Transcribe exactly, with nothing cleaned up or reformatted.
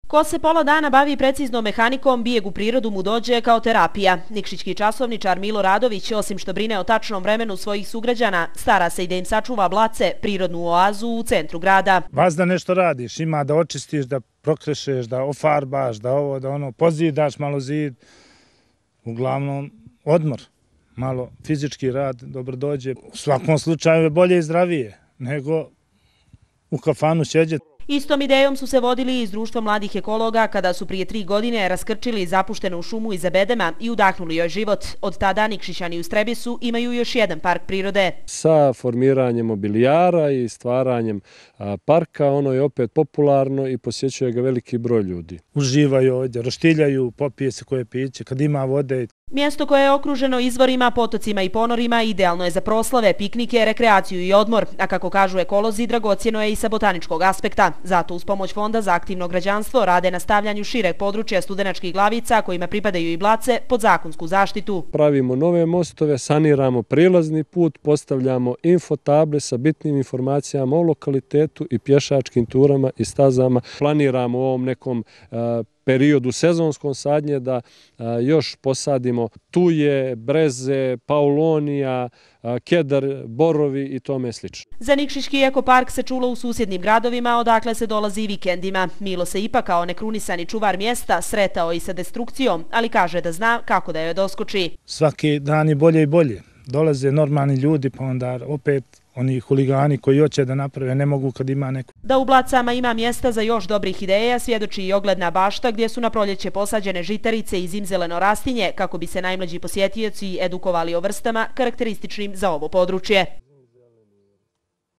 Ko se pola dana bavi preciznom mehanikom, bijeg u prirodu mu dođe kao terapija. Nikšićki časovničar Milo Radović, osim što brine o tačnom vremenu svojih sugrađana, stara se i da im sačuva Blace, prirodnu oazu u centru grada. Vas da nešto radiš, ima da očistiš, da prokrešeš, da ofarbaš, da ovo, da ono, pozidaš malo zid. Uglavnom, odmor, malo fizički rad, dobro dođe. U svakom slučaju je bolje i zdravije nego u kafanu sjeđeti. Istom idejom su se vodili iz Društva mladih ekologa kada su prije tri godine raskrčili zapuštenu šumu iza Bedema i udahnuli joj život. Od tada Nikšićani u Strebisu imaju još jedan park prirode. Sa formiranjem mobilijara i stvaranjem parka, ono je opet popularno i posjećuje ga veliki broj ljudi. Uživaju ovdje, roštiljaju, popije se koje piće, kad ima vode. Mjesto koje je okruženo izvorima, potocima i ponorima idealno je za proslave, piknike, rekreaciju i odmor, a kako kažu ekolozi, dragocjeno je i sa botaničkog aspekta. Zato uz pomoć Fonda za aktivno građanstvo rade na stavljanju šireg područja Studenačkih glavica, kojima pripadaju i Blace, pod zakonsku zaštitu. Pravimo nove mostove, saniramo prilazni put, postavljamo infotable sa bitnim informacijama o lokalitetu i pješačkim turama i stazama. Planiramo u ovom nekom periodu sezonskom sadnje da još posadimo tuje, breze, paulonija, kedar, borovi i tome slično. Za Nikšićki ekopark se čulo u susjednim gradovima, odakle se dolazi i vikendima. Milo se ipak kao nekrunisani čuvar mjesta sretao i sa destrukcijom, ali kaže da zna kako da joj doskoči. Svaki dan je bolje i bolje. Dolaze normalni ljudi, pa onda opet oni huligani koji hoće da naprave ne mogu kad ima neko. Da u Blacama ima mjesta za još dobrih ideja svjedoči i ogledna bašta gdje su na proljeće posađene žitarice i zimzeleno rastinje kako bi se najmlađi posjetioci edukovali o vrstama karakterističnim za ovo područje.